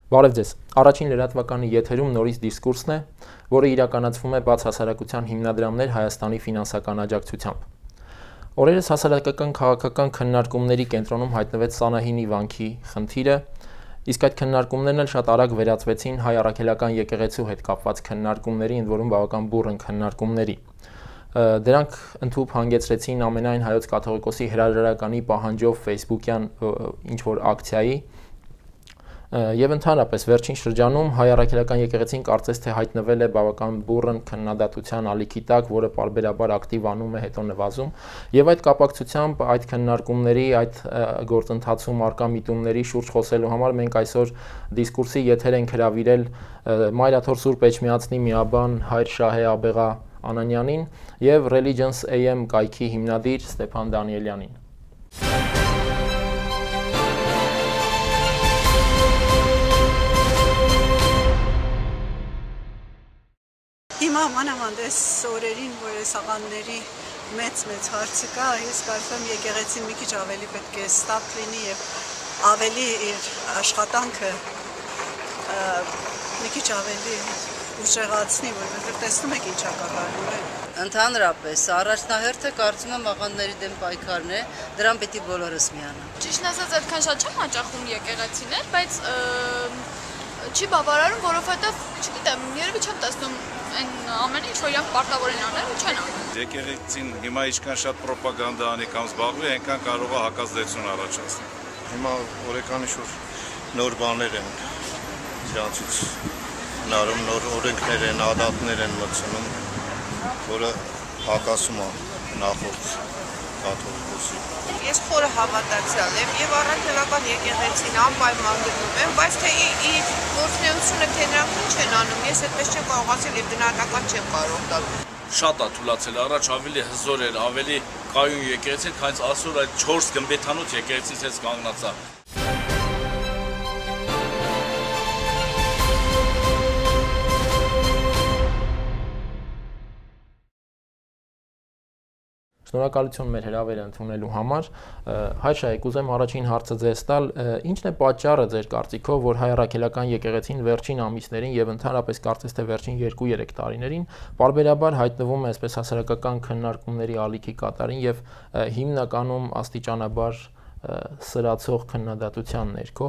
Բարև ձեզ։ Առաջին լրատվականի եթերում նորից դիսկուրսն է, որը իրականացվում է բաց հասարակության հիմնադրամներ Հայաստանի ֆինանսական աջակցությամբ։ Օրերս հասարակական քաղաքական քննարկումների կենտրոնում հայտնվեց Սանահինի վանքի խնդիրը, իսկ այդ քննարկումներն էլ շատ արագ վերածվեցին հայ առաքելական եկեղեցու հետ կապված քննարկումների, ընդ որում բավական բուռն քննարկումների։ Դրանք ընդհանուր հանգեցրեցին ամենայն հայոց կաթողիկոսի հրաժարականի պահանջով Facebook-յան ինչ-որ ակցիայի, եւ ընդհանրապես վերջին շրջանում հայ առաքելական եկեղեցին կարծես թե հայտնվել է բավական բուռն քննադատության ալիքի տակ, որը պարբերաբար ակտիվ անում է, հետո նվազում, եւ այդ կապակցությամբ այդ քննարկումների, այդ գործընթացում արկա միտումների շուրջ խոսելու համար մենք այսօր դիսկուրսի եթեր ենք հրավիրել Մայրաթոր Սուրբ Էջմիածնի միաբան հայր Շահե Աբեղա Անանյանին եւ Religions AM կայքի հիմնադիր Ստեփան Դանիելյանին։ Հիմա մանավանդես օրերին, որ այս աղանդների մեծ հարցը կա, ես կարծում եմ եկեղեցին մի քիչ ավելի պետք է ստապ լինի եւ ավելի իր աշխատանքը մի քիչ ավելի ուժեղացնի, որովհետեւ տեսնում եք ինչա կատարվում։ Ընդհանրապես, առաջնահերթը կարծում եմ աղանդների դեմ պայքարն է, դրան պետք է բոլորս միանան։ Ճիշտն ասած, այդքան շատ չեմ հաճախում եկեղեցիներ, բայց չի բավարարում, որովհետև, չգիտեմ, երևի չեմ տեսնում այն ամենը, ինչ որ իրանք պարտավոր են անել ու չեն անում։ Եկեղեցին հիմա ինչքան շատ ռոպագանդա անի կամ զբաղվի, այնքան կարող է հակազդեցություն առաջացնել։ Հիմա օրեկանի շուտ նոր բաներ են իրանցից հնարում, նոր օրենքներ են, ադատներ են մտցնում, որը հակասում է նախորդ կաթողիկոսի։ Ես խորը հավատացյալ եմ եւ առաքելական եկեղեցին անպայման գնում եմ, բայց թե իր գործունեությունը թե նրանք ինչ են անում, ես այդպես չեմ կարող ասել եւ գնահատական չեմ կարող տալ։ Շատ է թուլացել, առաջ ավելի հզոր էր, ավելի կայուն եկեղեցին, քան այսօր այդ 4 գմբեթանոց եկեղեցից էս կանգնած է։ Շնորհակալություն մեր հրավերը ընդունելու համար։ Հայր Շահե, կուզեմ առաջին հարցը ձեզ տալ, ի՞նչն է պատճառը ձեր կարծիքով, որ հայ առաքելական եկեղեցին վերջին ամիսներին եւ ընդհանրապես կարծես թե վերջին 2-3 տարիներին պարբերաբար հայտնվում է այսպես հասարակական քննարկումների ալիքի կատարին եւ հիմնականում աստիճանաբար սրացող քննադատության ներքո,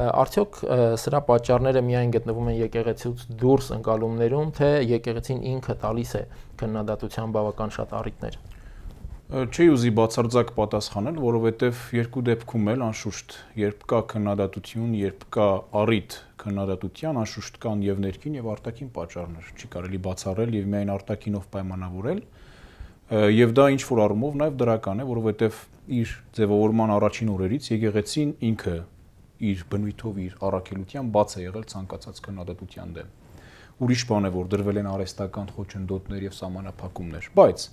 արդյոք սրա պատճառները միայն գտնվում են եկեղեցուց դուրս ընկալումներում, թե եկեղեցին ինքը տալիս է քննադատության բավական շատ առիթներ։ Չի ուզի բացարձակ պատասխանել, որովհետև երկու դեպքում էլ անշուշտ, երբ կա քննադատություն, երբ կա առիթ քննադատության, անշուշտ կան եւ ներքին եւ արտաքին պատճառներ, չի կարելի բացառել եւ միայն արտաքինով պայմանավորել, եւ դա ինչ որ առումով նաեւ դրական է, որովհետև իր ձևավորման առաջին օրերից եկեղեցին ինքը իր բնույթով, իր առաքելության բաց է եղել ցանկացած քննադատության դեմ։ Ուրիշ բան է, որ դրվել են արհեստական խոչընդոտներ եւ սահմանափակումներ, բայց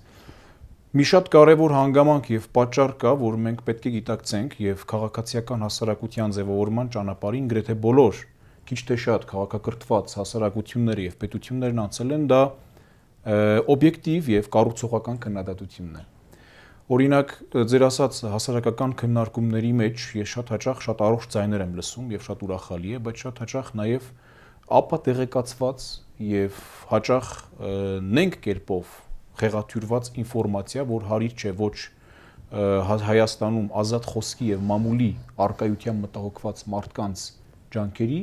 մի շատ կարևոր հանգամանք եւ պատճառ կա, որ մենք պետք է գիտակցենք եւ քաղաքացիական հասարակության ձևավորման ճանապարհին գրեթե բոլոր քիչ թե շատ քաղաքակրթված հասարակությունները եւ պետություններն անցել են, դա օբյեկտիվ եւ կառուցողական քննադատությունն է։ Օրինակ, ձեր ասած հասարակական քննարկումների մեջ ես շատ հաճախ շատ առողջ ձայներ եմ լսում եւ շատ ուրախալի է, բայց շատ հաճախ նաեւ ապա տեղեկացված եւ հաճախ նենք կերպով խեղաթյուրված ինֆորմացիա, որ հարիր չէ ոչ Հայաստանում ազատ խոսքի եւ մամուլի արկայության մտահոգված մարդկանց ջանքերի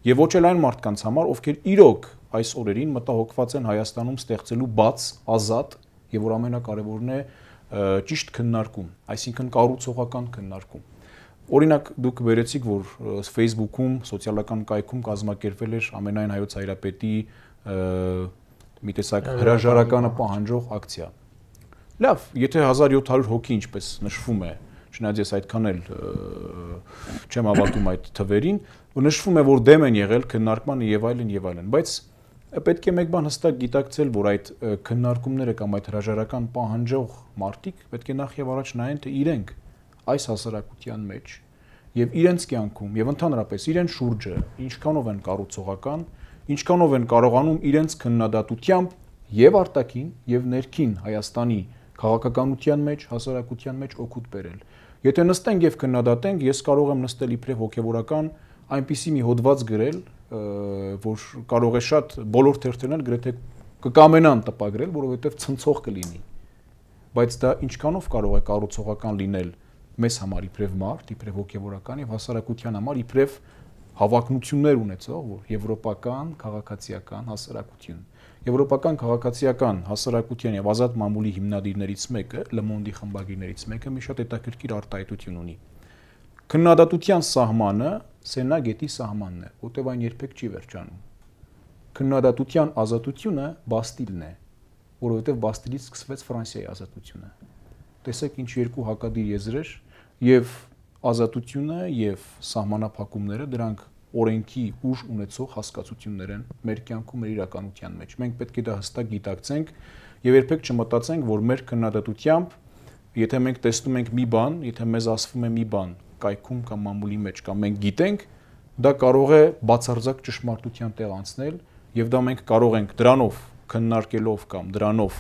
եւ ոչ էլ այն մարդկանց համար, ովքեր իրոք այս օրերին մտահոգված են Հայաստանում ստեղծելու բաց, ազատ եւ որ ամենակարևորն է ճիշտ քննարկում, այսինքն կառուցողական քննարկում։ Օրինակ դուք վերեցիք, որ Facebook-ում, սոցիալական կայքում կազմակերպվել էր ամենայն հայոց հայրապետի մի տեսակ հրաժարականը պահանջող ակցիա։ Լավ, եթե 1700 հոգի ինչպես նշվում է, չնայած ես այդքան էլ չեմ հավատում այդ թվերին, նշվում է, որ դեմ են եղել քննարկմանը եւ այլն, բայց պետք է մեկ բան հստակ գիտակցել, որ այդ քննարկումները կամ այդ հրաժարական պահանջող մարդիկ պետք է նախ եւ առաջ նայեն, թե իրենք այս հասարակության մեջ եւ իրենց կյանքում եւ ընդհանրապես իրենց շուրջը ինչքանով են կառուցողական, ինչքանով են կարողանում իրենց քննադատությամբ եւ արտաքին եւ ներքին Հայաստանի քաղաքականության մեջ, հասարակության մեջ օգուտ բերել։ Եթե նստենք եւ քննադատենք, ես կարող եմ նստել իբրև հոգեվորական այնպիսի մի հոդված գրել, որ կարող է շատ բոլոր թերթերն գրեթե կկամենան տպագրել, որովհետև ցնցող կլինի։ Բայց դա ինչքանով կարող է կառուցողական լինել մեզ համար իբրև մարդ, իբրև հոգևորական եւ հասարակության համար իբրև հավակնություններ ունեցող, որ եվրոպական քաղաքացիական հասարակություն։ Եվրոպական քաղաքացիական հասարակության եւ ազատ մամուլի հիմնադիրներից մեկը, Le Monde-ի խմբագիրներից մեկը մի շատ հետաքրքիր արտահայտություն ունի։ Քննադատության սահմանը Սենա գետի սահմանն է, որտեղ այն երբեք չի վերջանում։ Քննադատության ազատությունը Բաստիլն է, որովհետև Բաստիլից սկսվեց Ֆրանսիայի ազատությունը։ Տեսեք ինչ երկու հակադիր եզրեր եւ ազատությունը եւ սահմանափակումները դրանք օրենքի ուժ ունեցող հասկացություններ են մեր կյանքում, մեր իրականության մեջ։ Մենք պետք է դա հստակ գիտակցենք եւ երբեք չմտածենք, որ մեր քննադատությամբ, եթե մենք տեսնում ենք մի բան, եթե մեզ ասվում է մի բան կայքում կամ մամուլի մեջ կամ մենք գիտենք, դա կարող է բացարձակ ճշմարտության տեղ անցնել եւ դա մենք կարող ենք դրանով քննարկելով կամ դրանով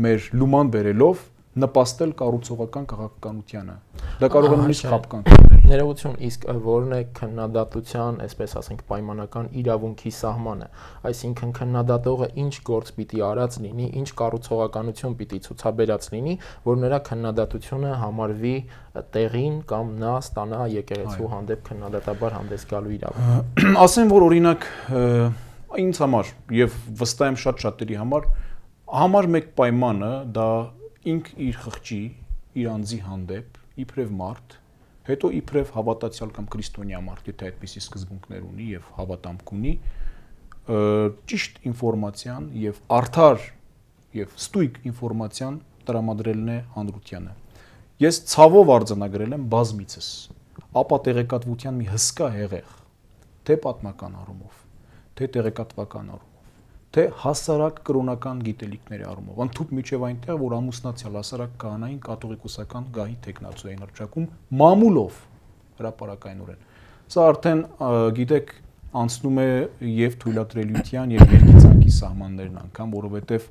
մեր լուման բերելով նպաստել կառուցողական քաղաքականությանը։ Դա կարող է նույնիսկ խապկանք լինել։ Ներողություն, իսկ որն է քննադատության, այսպես ասենք, պայմանական իրավունքի սահմանը։ Այսինքն քննադատողը ինչ գործ պիտի արած լինի, ինչ կառուցողականություն պիտի ցուցաբերած լինի, որ նրա քննադատությունը համարվի տեղին կամ նա ստանա եկեղեցու հանդեպ քննադատաբար հանդես գալու իրավունք։ Ասեմ, որ օրինակ ինձ համար եւ վստահ եմ շատ շատերի համար մեկ պայմանը դա ինք իր խղճի, իր անձի հանդեպ, իբրև մարդ, հետո իբրև հավատացյալ կամ քրիստոնյա մարդ, եթե այդպիսի սկզբունքներ ունի եւ հավատամք ունի, ճիշտ ինֆորմացիան եւ արդար եւ ստույգ ինֆորմացիան տրամադրելն է հանրությանը։ Ես ցավով արձանագրել եմ բազմիցս ապա տեղեկատվության մի հսկա հեղեղ, թե պատմական առումով, թե տեղեկատվական առումով, թե հասարակ կրոնական գիտելիքների առումով, ընդհուպ միջև այնտեղ, որ ամուսնացյալ հասարակ քահանային կաթողիկոսական գահի տեխնացու էին հռչակում մամուլով հրապարակայնորեն։ Սա արդեն գիտեք անցնում է եւ թույլատրելիության եւ երկիծանքի սահմաններն անգամ, որովհետեւ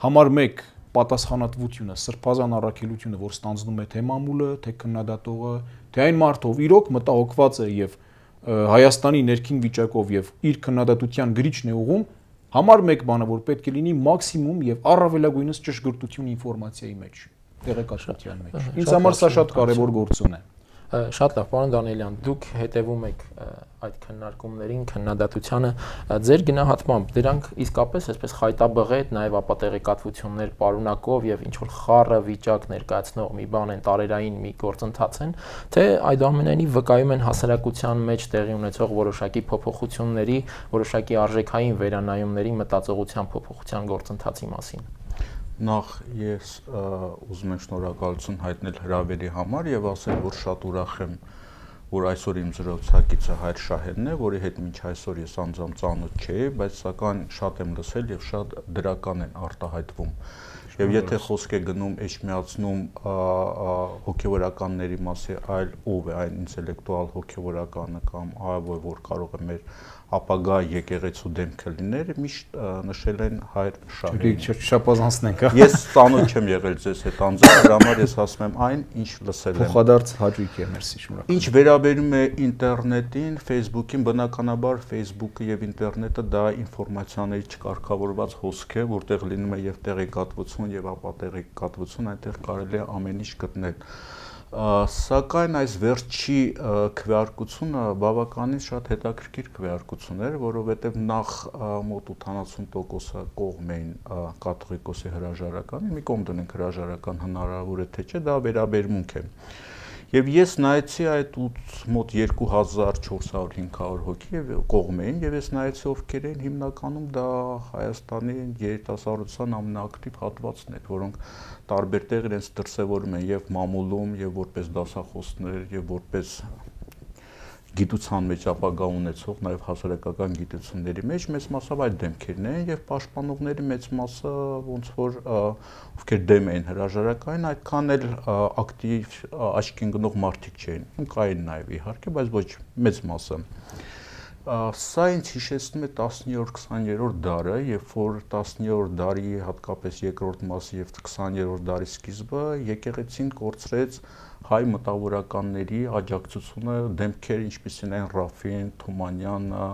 համար 1 պատասխանատվությունը, սրբազան առաքելությունը, որ ստանձնում է թե մամուլը, թե քննադատողը, թե այն մարդով իրոք մտահոգված է եւ Հայաստանի ներքին վիճակով եւ իր քննադատության գրիչն է ուղում, համար 1 բանը, որ պետք է լինի մաքսիմում եւ առավելագույնս ճշգրտություն ինֆորմացիայի մեջ, տեղեկատվության մեջ։ Ինձ համար սա շատ կարեւոր գործոն է։ Շատ լավ, պարոն Դանիելյան, դուք հետևում եք այդ քննարկումներին, քննադատությանը, ձեր գնահատմամբ դրանք իսկապես այսպես խայտաբղետ, նաև ապատեղեկատվություններ պարունակող եւ ինչ որ խառը վիճակ ներկայացնող մի բան են, տարերային մի գործընթաց են, թե այդուամենայնիվ վկայում են հասարակության մեջ տեղի ունեցող որոշակի փոփոխությունների, որոշակի արժեքային վերանայումների, մտածողության փոփոխության գործընթացի մասին։ Նախ ես ուզում եմ շնորհակալություն հայտնել հրավերի համար եւ ասել, որ շատ ուրախ եմ, որ այսօր իմ զրուցակիցը Հայր Շահենն է, որի հետ մինչ այսօր ես անձամբ ծանոթ չէի, բայց սակայն շատ եմ լսել եւ շատ դրական են արտահայտվում։ Եվ եթե խոսք է գնում էջմիածնում հոգեվորականների մասի, այլ ով է այն ինտելեկտուալ հոգեվորականը կամ այլ որ կարող է մեր ապագա եկեղեցու դեմքը լիներ, միշտ նշել են Հայր Շահենին։ Շապազանցնենք, հա։ Ես ծանոթ չեմ եղել ձեզ հետ անձամբ, դրա համար ես ասում եմ այն, ինչ լսել եմ։ Փոխադարձ հաճույք է, մերսի, շնորհակալ։ Ինչ վերաբերում է ինտերնետին, Facebook-ին, բնականաբար Facebook-ը եւ ինտերնետը դա ինֆորմացիաների չկարգավորված հոսք է, որտեղ լինում է եւ տեղեկատվություն եւ ապատեղեկատվություն, այնտեղ կարելի է ամեն ինչ գտնել։ Սակայն այս վերջի քվեարկությունը բավականին շատ հետաքրքիր քվեարկություն էր, որովհետև նախ մոտ 80%-ը կողմ էին կաթողիկոսի հրաժարականի, մի կողմ դնենք հրաժարական հնարավոր է թե չէ, դա վերաբերմունք է։ Եվ ես նայեցի այդ մոտ 2400-500 հոգի կողմ էին, եւ ես նայեցի ովքեր էին, հիմնականում դա Հայաստանի երիտասարդության ամենաակտիվ հատվածն էր, որոնք տարբեր տեղ իրենց դրսևորում են եւ մամուլում, եւ որպես դասախոսներ, եւ որպես գիտության մեջ ապագա ունեցող, նաև հասարակական գիտությունների մեջ մեծ մասով այդ դեմքերն են եւ պաշտպանողների մեծ մասը ոնց որ ովքեր դեմ էին հրաժարակային, այդքան էլ ակտիվ աչքին գնող մարդիկ չէին։ Կային նաև իհարկե, բայց ոչ մեծ մասը։ Սա ինձ հիշեցնում է 19-20-րդ դարը, երբ որ 19-րդ դարի հատկապես երկրորդ մասը եւ 20-րդ դարի սկիզբը եկեղեցին կորցրեց հայ մտավորականների աջակցությունը դեմքեր ինչպիսին են Ռաֆին, Թումանյանը,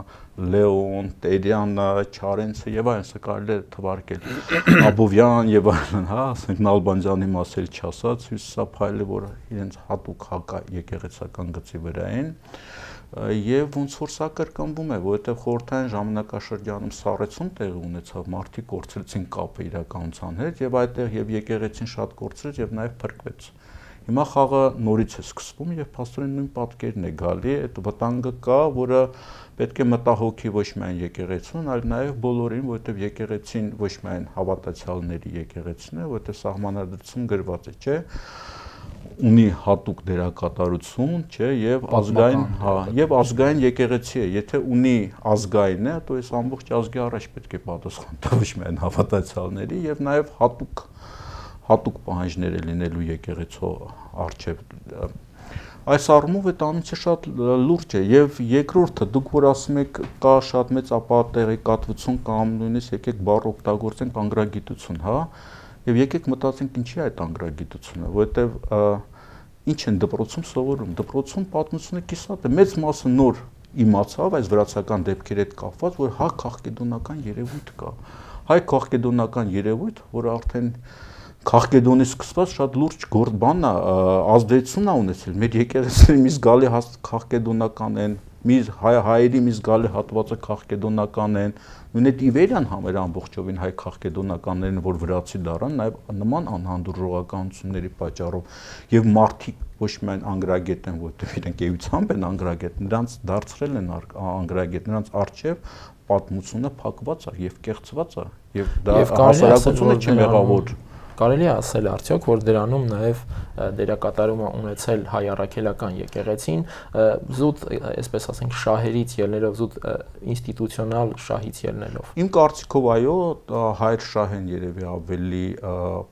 Լեոն, Տերյանը, Չարենցը եւ այլն, սա կարելի է թվարկել Աբովյան եւ այլն, հա, ասենք Նալբանդյանի մասել չասած, Հյուսիսափայլը, որ իրենց հատուկ հակա եկեղեցական գծի վրա են եւ ոնց որ սա կրկնվում է, որովհետեւ խորհրդային ժամանակաշրջանում սառեցում տեղի ունեցավ, մարդիկ կորցրեցին կապը իրականության հետ եւ այդտեղ եւ եկեղեցին շատ կորցրեց եւ նաեւ փրկվեց։ Հիմա խաղը նորից է սկսվում եւ փաստորեն նույն պատկերն է գալի, այդ վտանգը կա, որը պետք է մտահոգի ոչ միայն եկեղեցուն, այլ նաեւ բոլորին, որովհետեւ եկեղեցին ոչ միայն հավատացյալների եկեղեցին է, որովհետեւ սահմանադրություն գրված է, չէ՞, ունի հատուկ դերակատարություն, չէ, եւ ազգային, հա, եւ ազգային եկեղեցի է, եթե ունի ազգային է, то այս ամբողջ ազգի առաջ պետք է պատասխան տա ոչ միայն հավատացյալների եւ նաեւ հատուկ պահանջներ է լինելու եկեղեցու արչեւ։ Այս առումով այդ անունը շատ լուրջ է եւ երկրորդը դուք որ ասում եք կա շատ մեծ ապատեղեկատվություն կամ նույնիսկ եկեք բառ օգտագործենք անգրագիտություն, հա, եւ եկեք մտածենք ինչի է այդ անգրագիտությունը, որովհետեւ ինչ են դպրոցում սովորում, դպրոցում պատմությունը կիսատ է, մեծ մասը նոր իմացավ այս վրացական դեպքերի հետ կապված, որ հա քաղկեդոնական երևույթ կա, հայ քաղկեդոնական երևույթ, որը արդեն Քաղկեդոնից սկսված շատ լուրջ բան է, ազդեցություն է ունեցել։ Մեր եկեղեցիների մի զգալի քաղկեդոնական են, հայերի մի զգալի հատվածը քաղկեդոնական են, նույն այդ Իվերյան համեր ամբողջովին հայ քաղկեդոնականներն, որ վրացի դառան, նաև նման անհանդուրժողականությունների պատճառով եւ մարդիկ ոչ միայն անգրագետ են, որտեղ իրենք էությամբ են անգրագետ, նրանց դարձրել են անգրագետ, նրանց արժեվ պատմությունը փակված է եւ կեղծված է եւ դա հասարակությունը չի մեղավոր։ Կարելի է ասել արդյոք, որ դրանում նաև դերակատարում է ունեցել հայ առաքելական եկեղեցին, զուտ, այսպես ասենք, շահերից ելնելով, զուտ ինստիտուցիոնալ շահից ելնելով։ Իմ կարծիքով այո, հայր շահեն երևի ավելի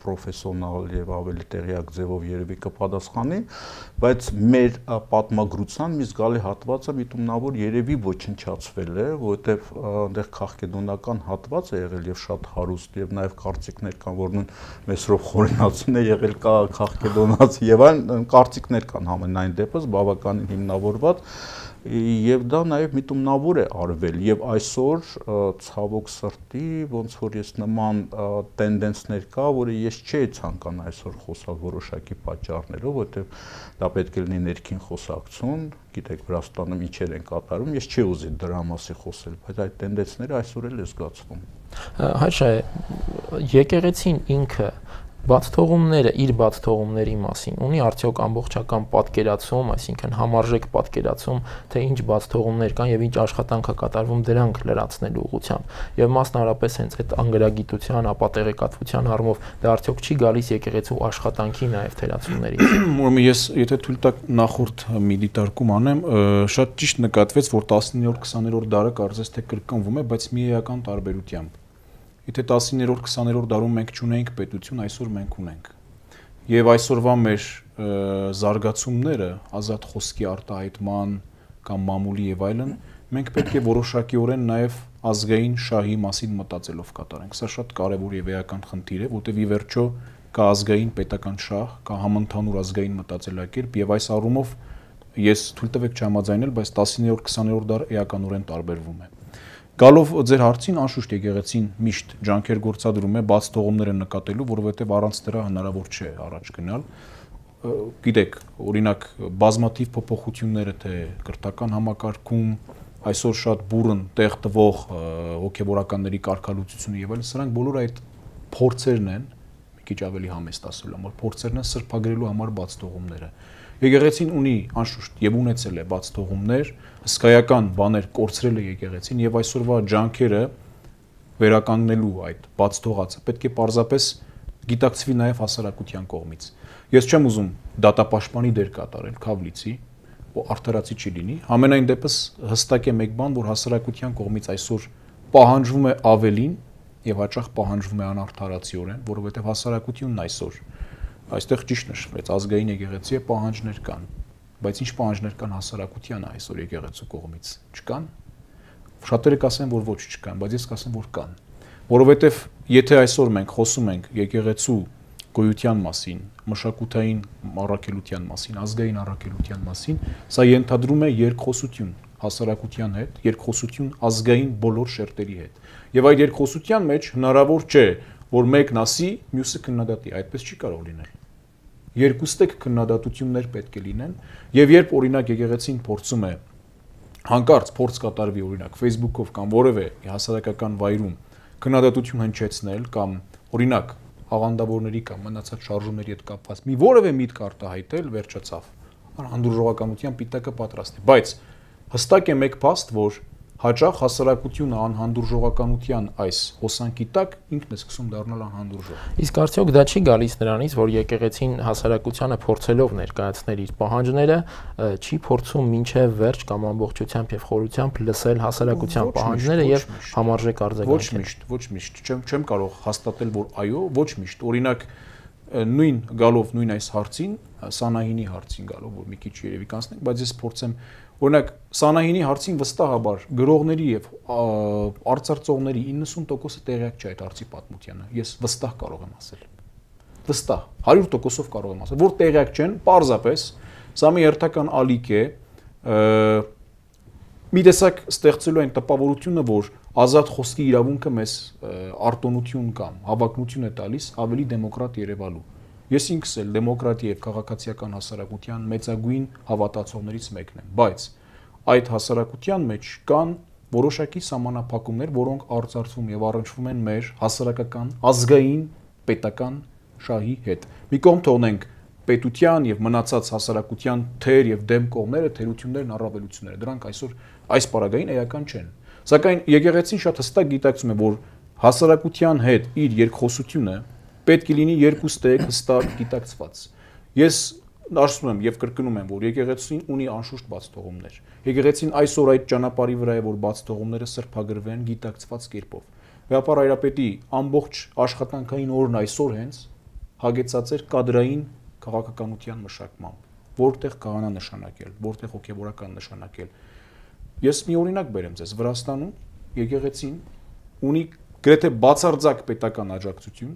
պրոֆեսիոնալ եւ ավելի տեղյակ ձևով երևի կպատասխանի, բայց մեր պատմագրության մի զգալի հատվածը միտումնավոր երևի ոչնչացվել է, որովհետեւ այնտեղ քաղկեդոնական հատված է եղել եւ շատ հարուստ եւ նաեւ կարծիքներ կան, որ նույն Մեսրոպ Խորենացին է եղել կա քաղկեդոնացի եւ այն կարծիքներ կան համենայն դեպս բավականին հիմնավորված եւ դա նաեւ միտումնավոր է արվել եւ այսօր ցավոք սրտի ոնց որ ես նման տենդենսներ կա, որը ես չէի ցանկանա այսօր խոսալ որոշակի պատճառներով, որովհետեւ դա պետք է լինի ներքին խոսակցություն, գիտեք Վրաստանում ինչեր են կատարում, ես չի ուզի դրա մասին խոսել, բայց այդ տենդենսները այսօր էլ է զգացվում։ Հայշա, եկեղեցին ինքը բաց թողումները իր բաց թողումների մասին ունի արդյոք ամբողջական պատկերացում, այսինքն համարժեք պատկերացում, թե ինչ բաց թողումներ կան եւ ինչ աշխատանք է կատարվում դրանք լրացնելու ուղղությամբ եւ մասնավորապես հենց այդ անգրագիտության, ապատեղեկատվության առումով դա արդյոք չի գալիս եկեղեցու աշխատանքի նաեւ թերացումներից։ Ուրեմն ես եթե թույլ տաք նախորդ մի դիտարկում անեմ, շատ ճիշտ նկատվեց, որ 19-րդ 20-րդ դարը կարծես թե կրկնվում է, բայց մի էական տարբերությամբ։ Եթե 19-րդ 20-րդ դարում մենք չունեինք պետություն, այսօր մենք ունենք։ Եվ այսօրվա մեր զարգացումները, ազատ խոսքի արտահայտման կամ մամուլի եւ այլն, մենք պետք է որոշակիորեն նաեւ ազգային շահի մասին մտածելով կատարենք։ Սա շատ կարեւոր եւ էական խնդիր է, որտեղ ի վերջո կա ազգային պետական շահ, կա համընդհանուր ազգային մտածելակերպ եւ այս առումով ես թույլ տվեք չհամաձայնել, բայց 19-րդ 20-րդ դարը էականորեն տարբերվում է։ Գալով ձեր հարցին, անշուշտ եկեղեցին միշտ ջանքեր գործադրում է բաց թողումները նկատելու, որովհետև առանց դրա հնարավոր չէ առաջ գնալ։ Գիտեք, օրինակ բազմաթիվ փոփոխությունները թե կրթական համակարգում, այսօր շատ բուրըն տեղ տվող հոգեվորականների կարգալուծությունը եւ այլն, սրանք բոլորը այդ փորձերն են, մի քիչ ավելի համեստ ասելու համար, փորձերն են սրբագրելու համար բաց թողումները։ Եկեղեցին ունի անշուշտ եւ ունեցել է բաց թողումներ, հսկայական բաներ կորցրել է եկեղեցին եւ այսօրվա ջանքերը վերականգնելու այդ բաց թողածը պետք է պարզապես գիտակցվի նաեւ հասարակության կողմից։ Ես չեմ ուզում դատապաշտպանի դեր կատարել Քավլիցի, որ արդարացի չի լինի, համենայն դեպս հստակ է մեկ բան, որ հասարակության կողմից այսօր պահանջվում է ավելին եւ հաճախ պահանջվում է անարդարացիորեն, որովհետեւ հասարակությունն այսօր այստեղ ճիշտ նշվեց, ազգային եկեղեցի է պահանջներ կան, բայց ինչ պահանջներ կան հասարակությանը այսօր եկեղեցու կողմից, չկան։ Շատերը կասեն, որ ոչ չկան, բայց ես կասեմ, որ կան։ Որովհետև եթե այսօր մենք խոսում ենք եկեղեցու գոյության մասին, մշակութային առաքելության մասին, ազգային առաքելության մասին, սա ենթադրում է երկխոսություն հասարակության հետ, երկխոսություն ազգային բոլոր շերտերի հետ։ Եվ այդ երկխոսության մեջ հնարավոր չէ, որ մեկն ասի, մյուսը քննադատի, այդպես չի կարող լինել։ Երկուստեք քննադատություններ պետք է լինեն, եւ երբ օրինակ եկեղեցին փորձում է հանկարծ փորձ կատարվի օրինակ Facebook-ով կամ որևէ հասարակական վայրում քննադատություն հնչեցնել կամ օրինակ աղանդավորների կամ մնացած շարժումների հետ կապված մի որևէ միտք արտահայտել, վերջացավ։ Անհանդուրժողականության պիտակը պատրաստ է, բայց հստակ է մեկ փաստ, որ հաճախ հասարակությունը անհանդուրժողականության այս հոսանքի տակ ինքն է սկսում դառնալ անհանդուրժող։ Իսկ արդյոք դա չի գալիս նրանից, որ եկեղեցին հասարակությանը փորձելով ներկայացնել իր պահանջները, չի փորձում մինչև վերջ կամ ամբողջությամբ եւ խորությամբ լսել հասարակության պահանջները եւ համարժեք արձագանքել։ Ոչ միշտ, չեմ կարող հաստատել, որ այո, ոչ միշտ։ Օրինակ նույն գալով նույն այս հարցին, Սանահինի հարցին գալով, որ մի քիչ երևի կանցնենք, բայց ես փորձեմ օրինակ Սանահինի հարցին վստահաբար գրողների եւ արծարծողների 90%-ը տեղյակ չէ այդ հարցի պատմությանը։ Ես վստահ կարող եմ ասել։ Վստահ 100%-ով կարող եմ ասել, որ տեղյակ չեն, պարզապես սա մի հերթական ալիք է, մի տեսակ ստեղծելու այն տպավորությունը, որ ազատ խոսքի իրավունքը մեզ արտոնություն կամ հավակնություն է տալիս ավելի դեմոկրատ երևալու։ Ես ինքս էլ դեմոկրատիա եւ քաղաքացիական հասարակության մեծագույն հավատացողներից մեկն եմ, բայց այդ հասարակության մեջ կան որոշակի սահմանափակումներ, որոնք արծարծվում եւ առնչվում են մեր հասարակական ազգային պետական շահի հետ։ Մի կողմ թողնենք պետության եւ մնացած հասարակության թեր եւ դեմ կողմերը, թերություններն, առավելությունները, դրանք այսօր այս պարագային էական չեն։ Սակայն եկեղեցին շատ հստակ գիտակցում է, որ հասարակության հետ իր երկխոսությունը պետք է լինի երկուստեք հստակ գիտակցված։ Ես ասում եմ եւ կրկնում եմ, որ եկեղեցին ունի անշուշտ բացթողումներ։ Եկեղեցին այսօր այդ ճանապարհի վրա է, որ բացթողումները սրբագրվեն գիտակցված կերպով։ Վեհապար Հայրապետի ամբողջ աշխատանքային օրն այսօր հենց հագեցած էր կադրային քաղաքականության մշակմամբ, որտեղ կհանա նշանակել, որտեղ հոգեվորական նշանակել։ Ես մի օրինակ բերեմ ձեզ, Վրաստանում եկեղեցին ունի գրեթե բացարձակ պետական աջակցություն,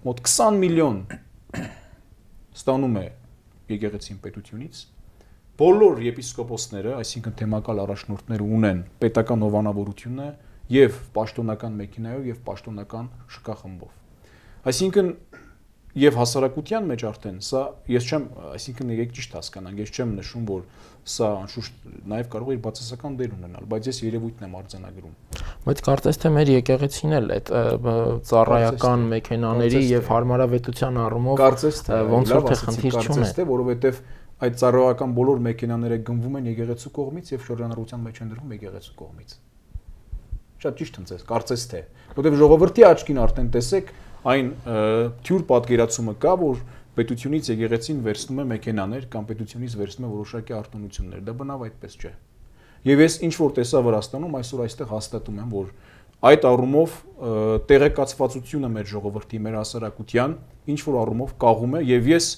մոտ 20 միլիոն ստանում է եկեղեցին պետությունից, բոլոր եպիսկոպոսները, այսինքն թեմակալ առաջնորդները ունեն պետական հովանավորությունը եւ պաշտոնական մեքենայով եւ պաշտոնական շքախմբով։ Այսինքն եւ հասարակության մեջ արդեն սա ես չեմ, այսինքն եկեք ճիշտ հասկանանք, ես չեմ նշում, որ սա անշուշտ նաեւ կարող է իր բացասական դեր ունենալ, բայց ես երևույթն եմ արձանագրում։ Բայց կարծես թե մեր եկեղեցին էլ այդ ծառայական մեքենաների եւ հարմարավետության առումով ոնց որ թե խնդիր չունի։ Կարծես թե, որովհետեւ այդ ծառայական բոլոր մեքենաները գնվում են եկեղեցու կողմից եւ շրջանառության մեջ են դրվում եկեղեցու կողմից։ Շատ ճիշտ ընձես, կարծես թե, որովհետեւ ժողովրդի աչքին արդեն տեսեք այն թյուր պատկերացումը կա, որ պետությունից եկեղեցին վերցնում է մեքենաներ կամ պետությունից վերցնում է որոշակի արտոնություններ, դա բնավ այդպես չէ։ Եվ ես ինչ որ տեսա Վրաստանում, այսօր այստեղ հաստատում եմ, որ այդ առումով տեղեկացվածությունը մեր ժողովրդի, մեր հասարակության ինչ որ առումով կաղում է եւ ես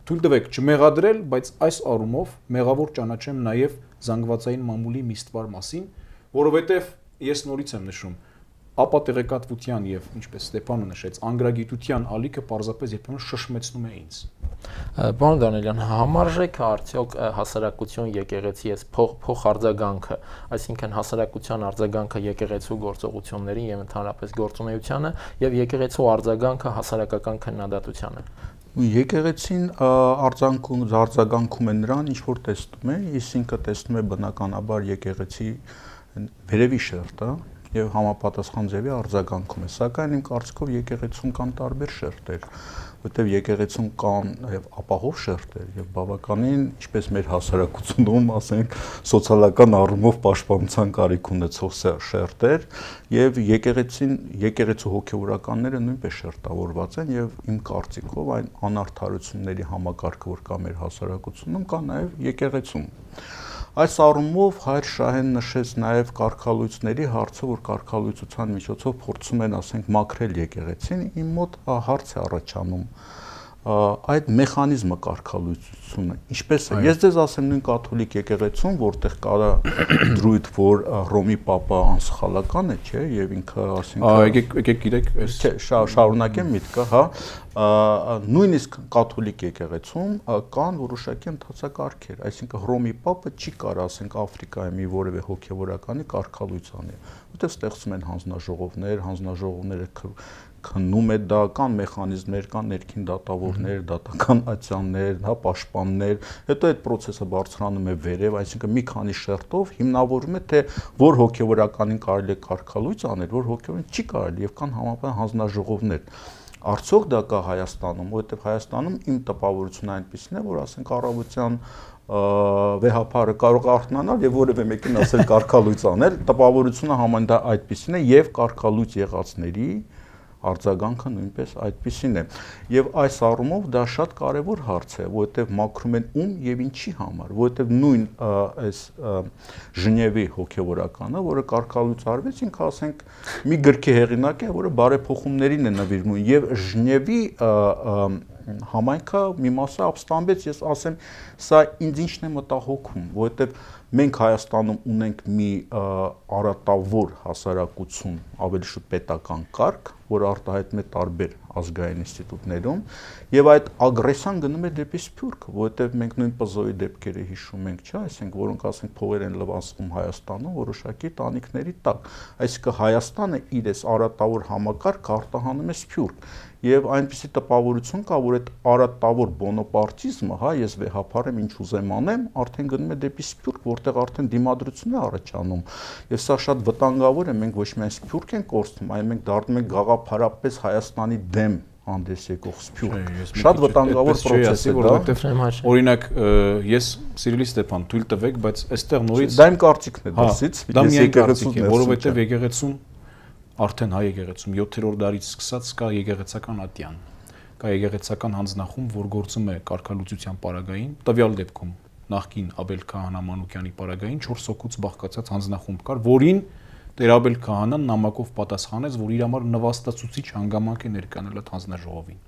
թույլ տվեք չմեղադրել, բայց այս առումով մեղավոր ճանաչեմ նաեւ զանգվածային մամուլի միստվար մասին, որովհետեւ ես նորից եմ նշում, ապա տեղեկատվության եւ ինչպես Ստեփանը նշեց, անգրագիտության ալիքը պարզապես երբեմն շշմեցնում է ինձ։ Պարոն Դանիելյան, համարժեք է արդյոք հասարակություն եկեղեցի այս փոխարձագանքը, այսինքն հասարակության արձագանքը եկեղեցու գործողություններին եւ ընդհանրապես գործունեությանը եւ եկեղեցու արձագանքը հասարակական քննադատությանը։ Եկեղեցին արձագանքում է նրան, ինչ որ տեսնում է, իսկ տեսնում է բնականաբար եկեղեցի վերևի շերտը եւ համապատասխան ձևի արձագանքում է, սակայն իմ կարծիքով եկեղեցուն կան տարբեր շերտեր, որտեղ եկեղեցուն կան եւ ապահով շերտեր եւ բավականին, ինչպես մեր հասարակությունում, ասենք, սոցիալական առումով պաշտպանության կարիք ունեցող շերտեր եւ եկեղեցու հոգեվորականները նույնպես շերտավորված են եւ իմ կարծիքով այն անարդարությունների համակարգը, որ կա մեր հասարակությունում, կա նաեւ եկեղեցում։ Այս առումով Հայր Շահեն նշեց նաև կարգալույցների հարցը, որ կարգալույցության միջոցով փորձում են, ասենք, մաքրել եկեղեցին, իմ մոտ հարց է առաջանում, այդ մեխանիզմը կարգալույծությունը ինչպես է ես ձեզ ասեմ նույն կաթոլիկ եկեղեցում որտեղ կարա դրույթ որ Հռոմի Պապը անսխալական է չէ եւ ինքը ասենք եկեք գիտեք չէ շարունակեմ միտքը հա նույնիսկ կաթոլիկ եկեղեցում կան որոշակի ընթացակարգեր այսինքն Հռոմի Պապը չի կարող ասենք Աֆրիկայի մի որևէ հոգեվորականի կարգալույծ անի որտեղ ստեղծում են հանձնաժողովները քննում է դա կան մեխանիզմներ, կան ներքին դատավորներ, դատական ատյաններ, հա պաշտպաններ, հետո այդ process-ը բարձրանում է վերև, այսինքն մի քանի շերտով հիմնավորում է թե որ հոգեվորականին կարելի է կարգալույծ անել, որ հոգեվորին չի կարելի եւ կան համապատասխան հանձնաժողովներ։ Արդյոք դա կա Հայաստանում, որովհետեւ Հայաստանում իմ տպավորությունը այնպեսին է, որ ասենք առավոտյան վեհապարը կարող է արթնանալ եւ որևէ մեկին ասել կարգալույծ անել, տպավորությունը համայն դա այդպեսին է եւ կարգալույծ եղածների արձագանքը նույնպես այդպիսին է եւ այս առումով դա շատ կարեւոր հարց է որովհետեւ մաքրում են ում եւ ինչի համար որովհետեւ նույն այս Ժնևի հոգեվորականը որը կարգալույծ արվեց ինքը ասենք մի գրքի հեղինակ է որը բարեփոխումներին է նվիրվում եւ Ժնևի համայնքը մի մասը ապստամբեց ես ասեմ սա ինձ ինչն է մտահոգում որովհետեւ մենք Հայաստանում ունենք մի արատավոր հասարակություն, ավելի շուտ պետական կարգ, որ արտահայտվում է տարբեր ազգային ինստիտուտներում, եւ այդ ագրեսիան գնում է դեպի Սփյուռք, որովհետեւ մենք նույն Պզոյի դեպքերը հիշում ենք, չէ՞, այսինքն որոնք ասենք փողեր են լվացվում Հայաստանում որոշակի տանիքների տակ, այսինքն Հայաստանը իր այս արատավոր համակարգը արտահանում է Սփյուռք եւ այնպիսի տպավորություն կա, որ այդ արատավոր բոնոպարտիզմը, հա, ես վեհապար եմ, ինչ ուզեմ անեմ, արդեն գնում է դեպի Սփյուռք, որտեղ արդեն դիմադրություն է առաջանում։ Եվ սա շատ վտանգավոր է, մենք ոչ միայն Սփյուռք ենք կորցնում, այլ մենք դառնում ենք գաղափարապես Հայաստանի դեմ հանդես եկող Սփյուռք։ Շատ վտանգավոր process է, որովհետեւ օրինակ ես Սիրիլի Ստեփան թույլ տվեք, բայց այստեղ նորից դա իմ կարծիքն է դրսից, ես եկեղեցու, որովհետեւ եկեղեցում արդեն հայ եկեղեցում 7-րդ դարից սկսած կա եկեղեցական ատյան, կա եկեղեցական հանձնախումբ, որ գործում է կարգալուծության պարագային, տվյալ դեպքում նախկին Աբել Քահանա Մանուկյանի պարագային 4 հոգուց բաղկացած հանձնախումբ կար, որին Տեր Աբել Քահանան նամակով պատասխանեց, որ իր համար նվաստացուցիչ հանգամանք է ներկանել այդ հանձնաժողովին։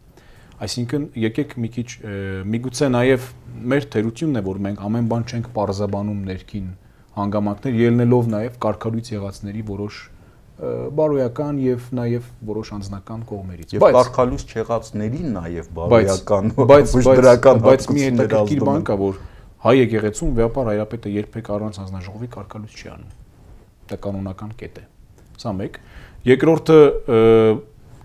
Այսինքն եկեք մի քիչ միգուցե նաև մեր թերությունն է, որ մենք ամեն բան չենք պարզաբանում ներքին հանգամանքներ, ելնելով նաև կարգալույծ եղածների որոշ բարոյական եւ նաեւ որոշ անձնական կողմերից եւ կարգալույծ չեղածների նաեւ բարոյական բայց մի հետաքրքիր բան կա որ հայ եկեղեցում վեհապար հայրապետը երբեք առանց հանձնաժողովի կարգալույծ չի անում դա կանոնական կետ է սա մեկ երկրորդը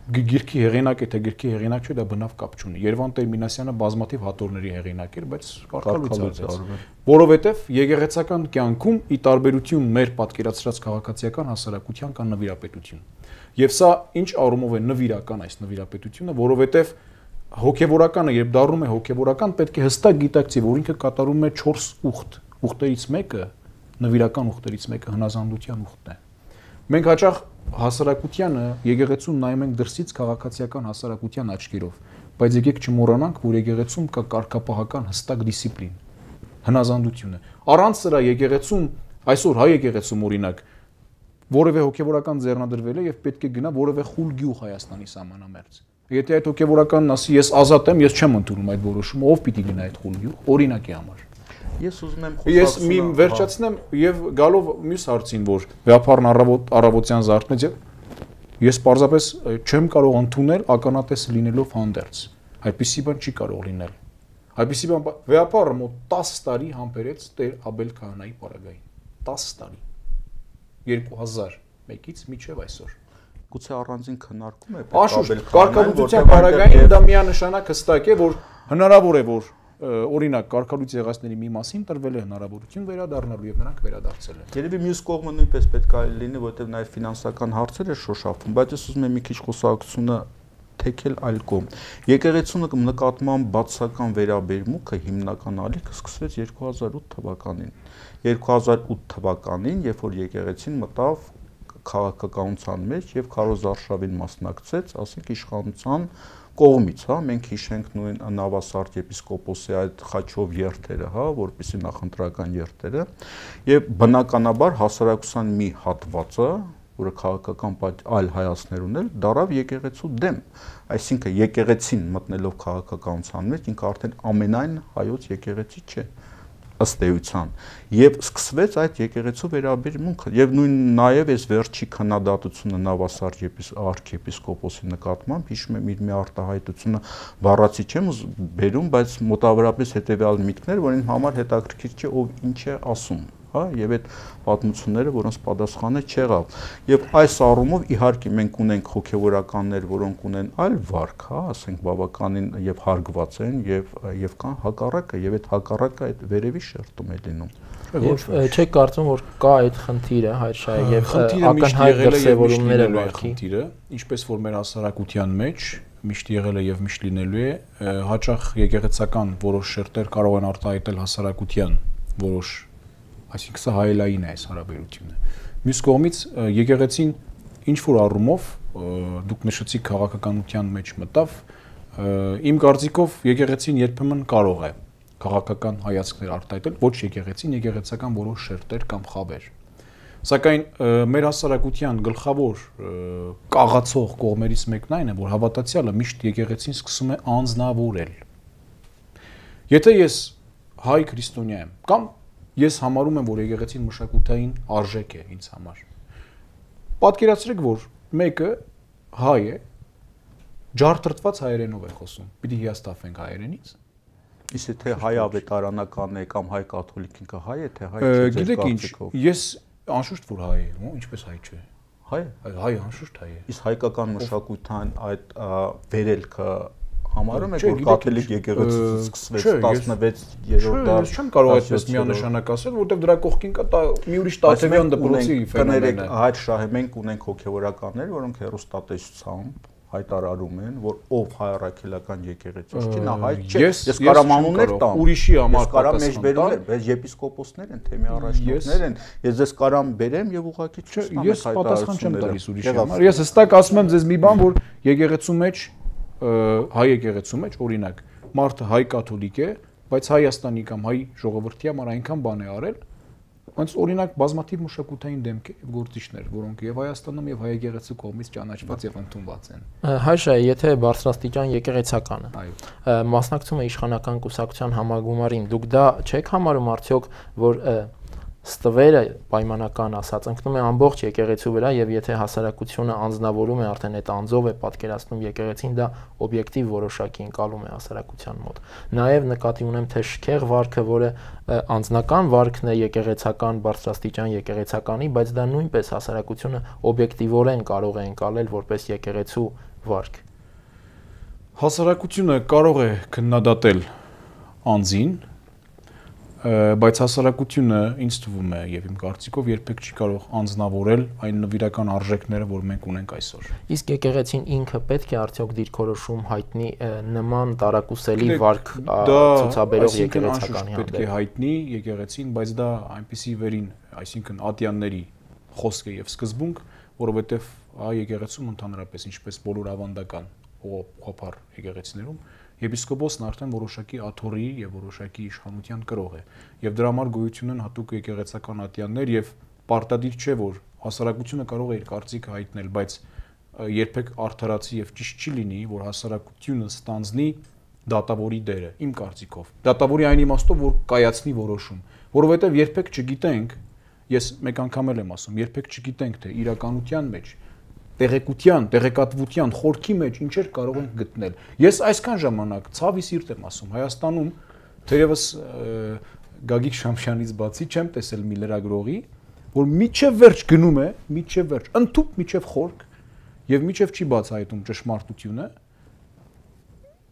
գիրքի հեղինակ է թե գիրքի հեղինակ չէ դա բնավ կապ չունի Երևան Տեր-Մինասյանը բազմաթիվ հատորների հեղինակ էր բայց կարգալույծ արվեց որովհետև եկեղեցական կյանքում ի տարբերություն մեր պատկերացրած քաղաքացիական հասարակության կան նվիրապետություն եւ սա ինչ առումով է նվիրական այս նվիրապետությունը որովհետև հոգեվորականը երբ դառնում է հոգեվորական պետք է հստակ գիտակցի որ ինքը կատարում է 4 ուխտ ուխտերից մեկը նվիրական ուխտերից մեկը հնազանդության ուխտն է մենք հաճախ հասարակությանը եկեղեցուն նայում ենք դրսից քաղաքացիական հասարակության աչքերով, բայց եկեք չմոռանանք, որ եկեղեցում կա կարգապահական հստակ դիսցիպլին, հնազանդությունը։ Առանց սրա եկեղեցում, այսօր հայ եկեղեցում օրինակ, որևէ հոգեվորական ձեռնադրվել է եւ պետք է գնա որևէ խուլ գյուղ Հայաստանի սահմանամերձ։ Եթե այդ հոգեվորականն ասի, ես ազատ եմ, ես չեմ ընդունում այդ որոշումը, ով պիտի գնա այդ խուլ գյուղ, օրինակի համար։ Ես ուզում եմ Ես մի վերջացնեմ եւ գալով մյուս հարցին, որ վեհապարն առավոտյան զարթնեց եւ ես պարզապես չեմ կարող ընդունել ականատես լինելով հանդերձ։ Այդպիսի բան չի կարող լինել։ Այդպիսի բան վեհապարը մոտ 10 տարի համբերեց Տեր Աբել Քահանայի պարագային։ 10 տարի։ 2001-ից մինչեւ այսօր։ Գուցե առանձին քննարկում է Աբել կարգալուծության պարագային դա միանշանակ հստակ է, որ հնարավոր է որ օրինակ կարգալույծ եղածների մի մասին տրվել է հնարավորություն վերադառնալու եւ նրանք վերադարձել են։ Երևի մյուս կողմը նույնպես պետք է լինի, որովհետեւ նաեւ ֆինանսական հարցեր է շոշափում, բայց ես ուզում եմ մի քիչ խոսակցությունը թեքել այլ կողմ։ Եկեղեցու նկատմամբ բացասական վերաբերմունքը հիմնական ալիքը սկսվեց 2008 թվականին։ 2008 թվականին, երբ որ եկեղեցին մտավ քաղաքականության մեջ եւ Քարոզ Արշավին մասնակցեց, ասենք իշխանության կողմից, հա, մենք հիշենք նույն Նավասարդ եպիսկոպոսի այդ խաչով երթերը, հա, որպեսի նախընտրական երթերը, եւ բնականաբար հասարակության մի հատվածը, որը քաղաքական այլ հայացքներ ուներ, դարավ եկեղեցու դեմ։ Այսինքն եկեղեցին մտնելով քաղաքականության մեջ ինքը արդեն ամենայն հայոց եկեղեցի չէ ըստ էության, եւ սկսվեց այդ եկեղեցու վերաբերմունքը եւ նույն նաեւ այս վերջի քննադատությունը Նավասարդ արքեպիսկոպոսի նկատմամբ հիշում եմ իր մի արտահայտությունը բառացի չեմ բերում, բայց մոտավորապես հետեւյալ միտքներ, որին համար հետաքրքիր չէ ով ինչ է ասում, հա, եւ այդ պատմությունները, որոնց պատասխանը չեղավ։ Եվ այս առումով իհարկե մենք ունենք հոգեվորականներ, որոնք ունեն այլ վարք, հա, ասենք բավականին եւ հարգված են եւ կան հակառակը, եւ այդ հակառակը այդ վերևի շերտում է լինում։ Չեք կարծում, որ կա այդ խնդիրը, հայրշահ եւ ակնհայտ դրսեւորումները վարքի խնդիրը, ինչպես որ մեր հասարակության մեջ միշտ եղել է եւ միշտ լինելու է, հաճախ եկեղեցական որոշ շերտեր կարող են արտահայտել հասարակության որոշ, այսինքն սա հայելային է այս հարաբերությունը։ Մյուս կողմից եկեղեցին ինչ որ առումով դուք նշեցիք քաղաքականության մեջ մտավ, իմ կարծիքով եկեղեցին երբեմն կարող է քաղաքական հայացքներ արտահայտել, ոչ եկեղեցին, եկեղեցական որոշ շերտեր կամ խավեր։ Սակայն մեր հասարակության գլխավոր կաղացող կողմերից մեկն այն է, որ հավատացյալը միշտ եկեղեցին սկսում է անձնավորել։ Եթե ես հայ քրիստոնյա եմ, կամ ես համարում եմ, որ եկեղեցին մշակութային արժեք է ինձ համար, պատկերացրեք, որ մեկը հայ է, ջարդրտված հայերենով է խոսում, պիտի հիասթափվենք հայերենից։ Իսկ թե հայ ավետարանական է կամ հայ կաթոլիկ ինքը հայ է, թե հայ չէ։ Գիտեք ինչ, ես անշուշտ որ հայ եմ, ինչպես հայ չէ։ Հայ է։ Հայ անշուշտ հայ է։ Իսկ հայկական մշակութան այդ վերելքը համարում եք, որ կաթոլիկ եկեղեցից սկսվեց 16-րդ դար։ Չեմ կարող այդպես միանշանակ ասել, որովհետև դրա կողքին կա մի ուրիշ Տաթևյան դպրոցի ֆենոմեն է։ Այդ շահը մենք ունենք հոգևորականներ, որոնք հերոստատեսությամբ հայտարարում են, որ ով հայ առաքելական եկեղեցու չի, նա հայ չէ։ Ես կարամ անուններ տամ, ուրիշի համար կարամ մեջբերումներ, բայց եպիսկոպոսներ են, թեմի առաջնորդներ են, ես ձեզ կարամ բերեմ եւ ուղղակի չստամ ես պատասխան չեմ տալիս ուրիշի համար։ Ես հստակ ասում եմ ձեզ մի բան, որ եկեղեցու մեջ, հայ եկեղեցու մեջ, օրինակ, մարդը հայ կաթոլիկ է, բայց Հայաստանի կամ հայ ժողովրդի համար այնքան բան է արել, Ոնց օրինակ բազմաթիվ մշակութային դեմքեր եւ գործիչներ, որոնք եւ Հայաստանում եւ հայ եկեղեցու կողմից ճանաչված եւ ընդունված են։ Հայշայ, եթե բարձրաստիճան եկեղեցական է, մասնակցում է իշխանական կուսակցության համագումարին, դուք դա չեք համարում արդյոք, որ ստվերը պայմանական ասած ընկնում է ամբողջ եկեղեցու վրա եւ եթե հասարակությունը անձնավորում է արդեն այդ անձով է պատկերացնում եկեղեցին, դա օբյեկտիվ որոշակի ընկալում է հասարակության մոտ։ Նաեւ նկատի ունեմ թե շքեղ վարքը, որը անձնական վարքն է եկեղեցական բարձրաստիճան եկեղեցականի, բայց դա նույնպես հասարակությունը օբյեկտիվորեն կարող է ընկալել որպես եկեղեցու վարք։ Հասարակությունը կարող է քննադատել անձին, բայց հասարակությունը ինձ թվում է եւ իմ կարծիքով երբեք չի կարող անձնավորել այն նվիրական արժեքները, որ մենք ունենք այսօր։ Իսկ եկեղեցին ինքը պետք է արդյոք դիրքորոշում հայտնի նման տարակուսելի վարք ցուցաբերող եկեղեցականի հանդեպ։ Պետք է հայտնի եկեղեցին, բայց դա այնպիսի վերին, այսինքն ատյանների խոսք է եւ սկզբունք, որովհետեւ եկեղեցում ընդհանրապես ինչպես բոլոր ավանդական ուղղափառ եկեղեցիներում Եպիսկոպոսն արդեն որոշակի աթոռի եւ որոշակի իշխանության կրող է եւ դրա համար գոյություն են հատուկ եկեղեցական ատյաններ եւ պարտադիր չէ որ հասարակությունը կարող է իր կարծիքը հայտնել, բայց երբեք արդարացի եւ ճիշտ չի լինի, որ հասարակությունը ստանձնի դատավորի դերը, իմ կարծիքով։ Դատավորի այն իմաստով, որ կայացնի որոշում, որովհետեւ երբեք չգիտենք, ես մեկ անգամ եմ ասում, երբեք չգիտենք թե իրականության մեջ տեղեկության, տեղեկատվության խորքի մեջ ինչեր կարող ենք գտնել։ Ես այսքան ժամանակ ցավի սիրտ եմ ասում, Հայաստանում թերևս Գագիկ Շամշյանից բացի չեմ տեսել մի լրագրողի, որ միջև վերջ գնում է, միջև վերջ, ընդཐུպ միջև խորք եւ միջև չի բացահայտում ճշմարտությունը,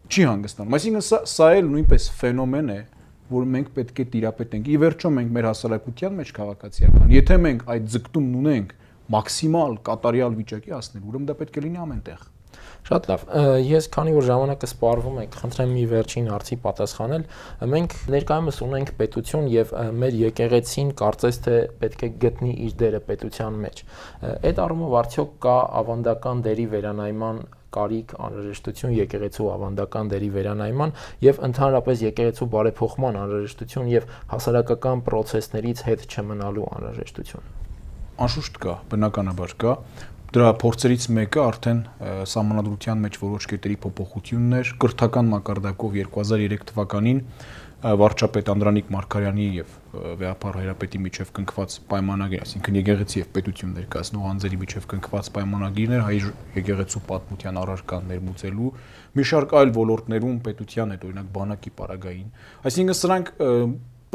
չի հանգստանում։ Այսինքն սա էլ նույնպես ֆենոմեն է, որ մենք պետք է տիրապետենք։ Ի վերջո մենք մեր հասարակության մեջ քաղաքացիական, եթե մենք այդ ձգտումն ունենք մաքսիմալ կատարյալ վիճակի հասնել, ուրեմն դա պետք է լինի ամենտեղ։ Շատ լավ։ Ես քանի որ ժամանակը սպառվում է, կխնդրեմ մի վերջին հարցի պատասխանել։ Մենք ներկայումս ունենք պետություն եւ մեր եկեղեցին կարծես թե պետք է գտնի իր դերը պետության մեջ։ Այդ առումով արդյոք կա ավանդական դերի վերանայման կարիք, անհրաժեշտություն եկեղեցու ավանդական դերի վերանայման եւ ընդհանրապես եկեղեցու բարեփոխման անհրաժեշտություն եւ հասարակական process-ներից հետ չմնալու անհրաժեշտություն։ անշուշտ կա, բնականաբար կա։ Դրա փորձերից մեկը արդեն սահմանադրության մեջ որոշ կետերի փոփոխություններ, կրթական մակարդակով 2003 թվականին վարչապետ Անդրանիկ Մարգարյանի եւ վեհապար հայրապետի միջև կնքված պայմանագիր, այսինքն եկեղեցի եւ պետություն ներկայացնող անձերի միջև կնքված պայմանագիրներ հայ եկեղեցու պատմության առարկան ներմուծելու մի շարք այլ ոլորտներում պետության հետ, օրինակ բանակի պարագային, այսինքն սրանք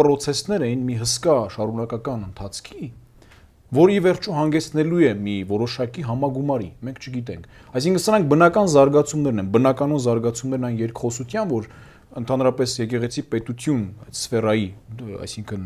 պրոցեսներ էին մի հսկա շարունակական ընթացքի, որի վերջո հանգեցնելու է մի որոշակի համագումարի, մենք չգիտենք։ Այսինքն սրանք բնական զարգացումներն են, բնականոն զարգացումներն այն երկխոսության, որ ընդհանրապես եկեղեցի պետություն սֆերայի, այսինքն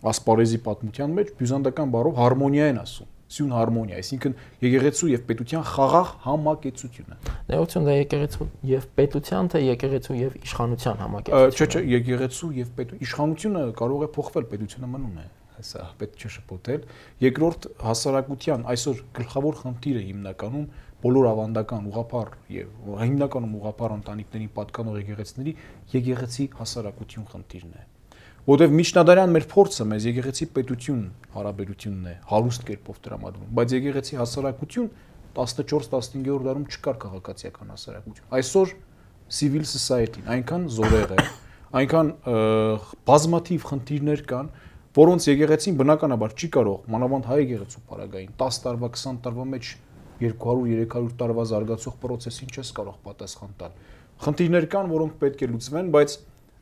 ասպարեզի պատմության մեջ բյուզանդական բառով հարմոնիա են ասում, սյուն հարմոնիա, այսինքն եկեղեցու եւ պետության խաղաղ համակեցությունը։ Ներողություն, դա եկեղեցու եւ պետության, թե եկեղեցու եւ իշխանության համակեցությունը։ Չէ, եկեղեցու եւ պետություն, իշխանությունը կարող է փոխվել, պետությունը մնում է։ Հեսա պետք չէ շփոթել։ Երկրորդ հասարակության այսօր գլխավոր խնդիրը հիմնականում բոլոր ավանդական ուղղափառ եւ հիմնականում ուղղափառ ընտանիքներին պատկանող եկեղեցիների եկեղեցի հասարակություն խնդիրն է։ Որտեւ միջնադարյան մեր փորձը մեզ եկեղեցի պետություն հարաբերությունն է հարուստ կերպով տրամադրում, բայց եկեղեցի հասարակություն 14-15-րդ դարում չկար քաղաքացիական հասարակություն։ Այսօր civil society-ն այնքան զորեղ է, այնքան բազմաթիվ խնդիրներ կան, որոնց եկեղեցին բնականաբար չի կարող, մանավանդ հայ եկեղեցու պարագային 10 տարվա, 20 տարվա մեջ 200-300 տարվա զարգացող process-ին չես կարող պատասխան տալ։ Խնդիրներ կան, որոնք պետք է լուծվեն, բայց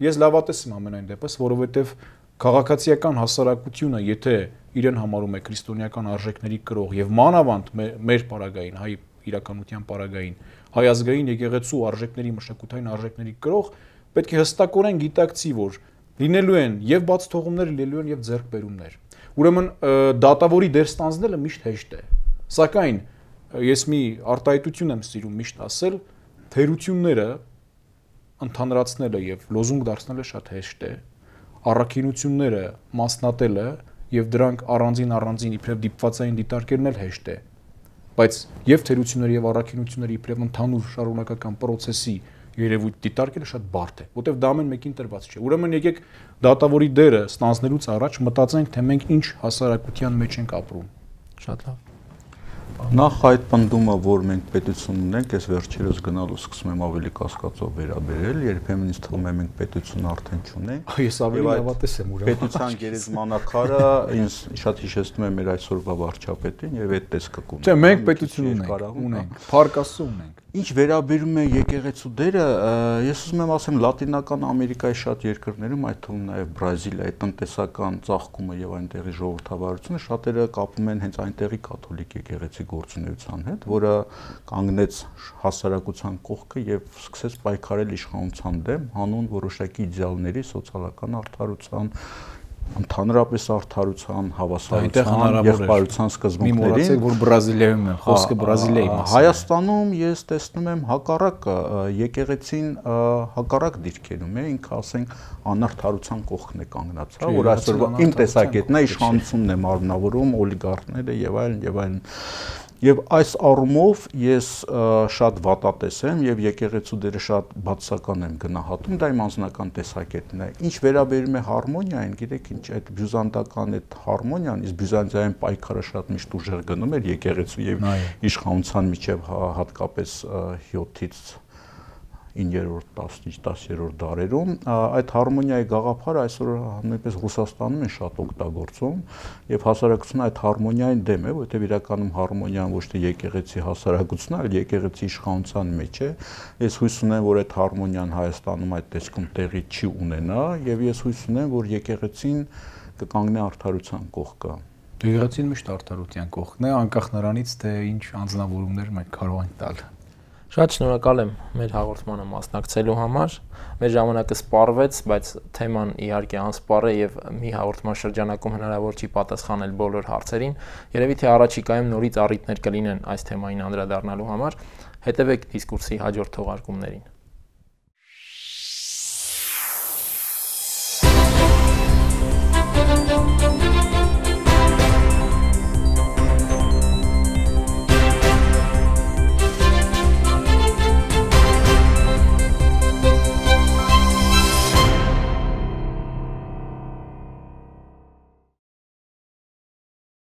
ես լավատես եմ ամենայն դեպս, որովհետև քաղաքացիական հասարակությունը, եթե իրեն համարում է քրիստոնեական արժեքների կրող եւ մանավանդ մեր պարագային, հայ իրականության պարագային, հայ ազգային եկեղեցու արժեքների, մշակութային արժեքների կրող, պետք է հստակորեն գիտակցի, որ լինելու են եւ բաց թողումներ, լինելու են եւ ձեռքբերումներ։ Ուրեմն դատավորի դեր ստանձնելը միշտ հեշտ է։ Սակայն ես մի արտահայտություն եմ սիրում միշտ ասել, թերությունները ընդհանրացնելը եւ լոզունգ դարձնելը շատ հեշտ է։ Առաքինությունները մասնատելը եւ դրանք առանձին իբրև դիպվածային դիտարկելն էլ հեշտ է։ Բայց եւ թերությունները եւ առաքինությունները իբրև ընդհանուր շարունակական process-ի երևույթ դիտարկելը շատ բարդ է, որտեղ դա ամեն մեկին տրված չէ։ Ուրեմն եկեք դատավորի դերը ստանձնելուց առաջ մտածենք, թե մենք ինչ հասարակության մեջ ենք ապրում։ Շատ լավ։ Նախ այդ պնդումը, որ մենք պետություն ունենք, ես վերջերս գնալու սկսում եմ ավելի կասկածով վերաբերել, երբեմն ինձ թվում է մենք պետություն արդեն չունենք։ Ես ավելի լավատես եմ ուրեմն։ Պետության գերեզմանակարը ինձ շատ հիշեցնում է մեր այսօրվա վարչապետին եւ այդ տեսքը կունենք։ Չէ, մենք պետություն ունենք, Փառք Աստծո ունենք։ Ինչ վերաբերում է եկեղեցու դերը, ես ուզում եմ ասեմ Լատինական Ամերիկայի շատ երկրներում, այդ թվում նաև Բրազիլիայի տնտեսական ծաղկումը եւ այնտեղի ժողովրդավարությունը շատերը կապում են հենց այնտեղի կաթոլիկ եկեղեցի գործունեության հետ, որը կանգնեց հասարակության կողքը եւ սկսեց պայքարել իշխանության դեմ հանուն որոշակի իդեալների, սոցիալական արդարության, ընդհանրապես արդարության, հավասարության, եղբայրության սկզբունքներին։ Մի մոռացեք, որ Բրազիլիայում է, խոսքը Բրազիլիայի մասին։ Հայաստանում ես տեսնում եմ հակառակը, եկեղեցին հակառակ դիրքերում է, ինքը ասենք անարդարության կողքն է կանգնած, որ այսօրվա իմ տեսակետն է, իշխանությունն է մարմնավորում, օլիգարխները եւ այլն։ Եվ այս առումով ես շատ վատատես եմ եւ եկեղեցու դերը շատ բացասական եմ գնահատում, դա իմ անձնական տեսակետն է։ Ինչ վերաբերում է հարմոնիային, գիտեք ինչ, այդ բյուզանդական այդ հարմոնիան, իսկ բյուզանդիայում պայքարը շատ միշտ ուժեղ գնում էր եկեղեցու եւ իշխանության միջև հատկապես 7-ից 9-րդ, 10-րդ դարերում այդ հարմոնիայի գաղափարը այսօր նույնպես Ռուսաստանում են շատ օգտագործում եւ հասարակությունը այդ հարմոնիային դեմ է, որովհետեւ իրականում հարմոնիան ոչ թե եկեղեցի հասարակությունն, այլ եկեղեցի իշխանության մեջ է։ Ես հույս ունեմ, որ այդ հարմոնիան Հայաստանում այդ տեսքում տեղի չի ունենա եւ ես հույս ունեմ, որ եկեղեցին կկանգնի արդարության կողքը։ Եկեղեցին միշտ արդարության կողքն է, անկախ նրանից, թե ինչ անձնավորումներ մենք կարող ենք տալ։ Շատ շնորհակալ եմ մեր հաղորդմանը մասնակցելու համար։ Մեր ժամանակը սպառվեց, բայց թեման իհարկե անսպառ է եւ մի հաղորդման շրջանակում հնարավոր չի պատասխանել բոլոր հարցերին։ Երևի թե առաջիկայում նորից առիթներ կլինեն այս թեմային անդրադառնալու համար։ Հետևեք դիսկուրսի հաջորդ թողարկումներին։